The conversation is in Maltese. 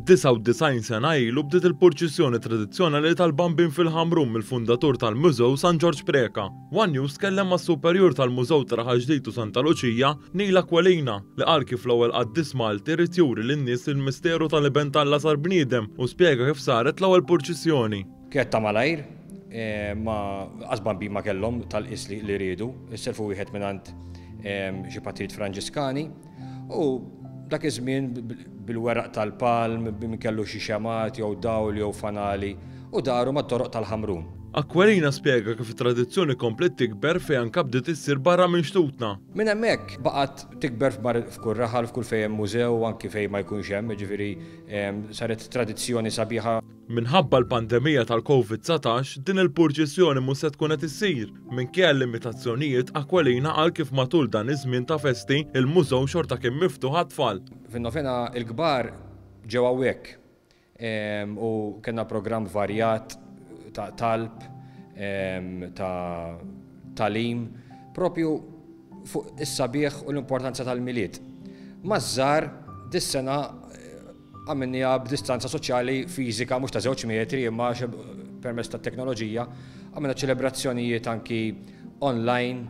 99 sena ilu bdiet il-purċissjoni tradizzjonali tal-Bambin fil-Ħamrun mill-fundatur tal-Mużew San Ġorġ Preca. One News tkellem mas-Superjur tal-Mużew ta' Raħal Ġdid u Santa Luċija, Neil Aquilina, li qal kif l-ewwel qaddis Malti ried juri lin-nies il-misteru tal-Iben t'Alla sar bniedem u spjega kif saret l-ewwel purċissjoni. Kienet ta' malajr, ma qas Bambin ma kellhom tal-qies li riedu, issellfu wieħed mingħand xi patrijiet Franġiskani. U dak iż-żmien bil-weraq tal-palm, min kellu xi xemgħat jew dawl jew fanali u daru mat-toroq tal-Ħamrun. Aquilina spjega kif it-tradizzjoni kompliet tikber fejn anke bdiet issir barra minn xtutna. Minn hemmhekk baqgħet tikber f'kull raħal, f'kull fejn hemm mużew u anki fejn ma jkunx hemm, jiġifieri saret tradizzjoni sabiħa. Minħabba l-pandemija tal-Covid 19, din il-purċissjoni mhux se tkun qed issir. Minkejja l-limitazzjonijiet, Aquilina qal kif matul dan iż-żmien ta' festi, il-mużew xorta kien miftuħ għat-tfal. Fin-novena l-kbar ġew hawnhekk u kellna programm varjat ta' talb, ta' tagħlim propju fuq is-sabiħ u l-importanza tal-Milied. Maż-żgħar dis-sena Għamilniha b'distanza soċjali fiżika mhux ta' żewġ metri imma permezz tat-teknoloġija għamilna ċelebrazzjonijiet anki online.